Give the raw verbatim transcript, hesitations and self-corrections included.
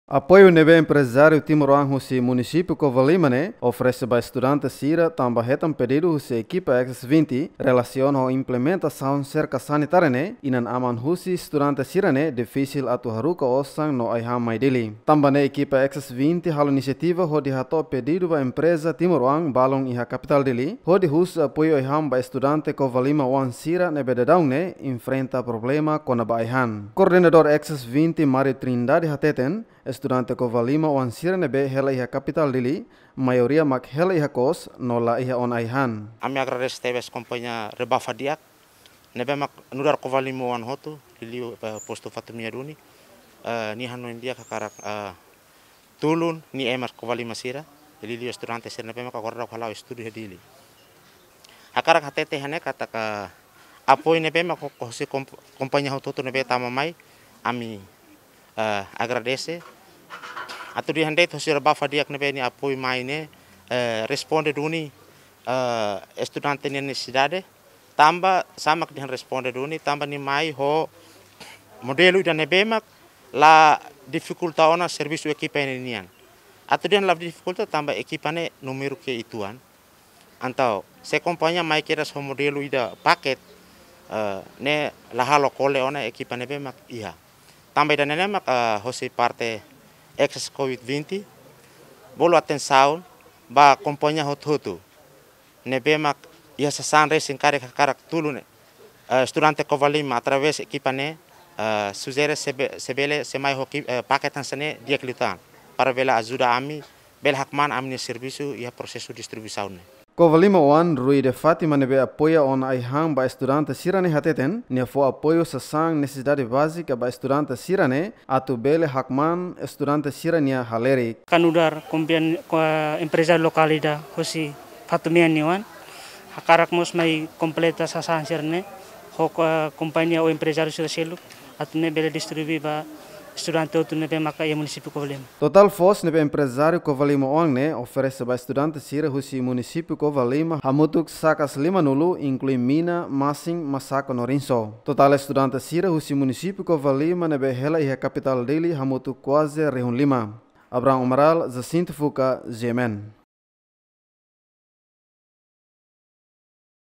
Apoiu ne'ebé emprezáriu timoroan husi munisípiu Covalima ne'e oferese ba estudante sira tanba hetan pedidu husi ekipa Access vinte relasiona ho implementasaun serka sanitária ne'e, inan-aman husi estudante sira ne'e difisil atu haruka osan no ai-han mai Dili. Tanba ne'e ekipa Access vinte halo inisiativa hodi hato'o pedidu ba empreza timoroan balun iha kapitál Dili, hodi husu apoiu ai-han ba estudante Covalima oan sira ne'ebé daudaun ne'e enfrenta problema kona-ba ai-han. Koordenadór Access vinte Mario Trindade hateten, estudante Covalima oan sira ne'ebé hela iha kapitál Dili, maioria mak hela iha kos no la iha ona ai-han. Ami agradese tebes kompañia Rebafa Di'ak, ne'ebé mak nu'udar Covalima oan hotu, liuliu, eh, postu Fatumea duni, eh, nia hanoin di'ak hakarak, eh, tulun nia ema Covalima sira, liuliu estudante sira ne'ebé mak agora daudaun hala'o estudu iha Dili. Hakarak hatete hanesan katak apoiu ne'ebé mak ho-, hosi komp-, kompañia hotu-hotu ne'ebé tama mai, ami, eh, agradese. Atu dehan de'it hosi Rebafa Di'ak ne'ebé nia apoiu mai ne'e, eh, responde duni, eh, estudante nia nesesidade, tanba sá mak dehan responde duni, tanba nia mai ho modelu ida ne'ebé mak la difikulta ona servisu ekipa ne'e nian. Atu dehan la difikulta tanba ekipa ne'e númeru ke uitoan. Entaun, se kompañia mai kedas ho modelu ida paket, eh, ne'e la halo kole ona ekipa ne'ebé mak iha. Tanba ida-ne'e ne'e mak, eh, hosi parte Access Covid vinte, bolu atensaun ba kompañia hotu-hotu ne'ebé mak iha sasán resin karik hakarak tulun, eh, estudante Covalima através ekipa ne'e, eh, sujere se be-, se bele se mai ho ki-, eh, paket hanesan ne'e di'ak liután, para bele ajuda ami, bele hakmaan ami-nia servisu iha prosesu distribuisaun ne'e. Covalima oan Rui de Fátima ne'ebé apoia ona ai-han ba estudante sira ne'e hateten, nia fó apoiu sasán nesesidade bázika ba estudante sira ne'e, atu bele hakmaan estudante sira-nia halerik. Ka nu'udar kompian-, ko-, emprezáriu lokál ida hosi Fatumea nia oan, hakarak mós mai kompleta sasán sira-ne'e, ho ko-, kompañia ou emprezáriu sira seluk, atu nune'e bele distribui ba estudante hotu ne'ebé maka iha munisípiu Covalima. Totál foos ne'ebé emprezáriu Covalima oan ne'e oferese ba estudante sira husi munisípiu Covalima hamutuk sakas limanulu, inklui mina, masin, masako no rinso. Totál estudante sira husi munisípiu Covalima ne'ebé hela iha kapitál Dili hamutuk kuaze rihun lima. Abraham Amaral, Jacinto Fuca, G M N.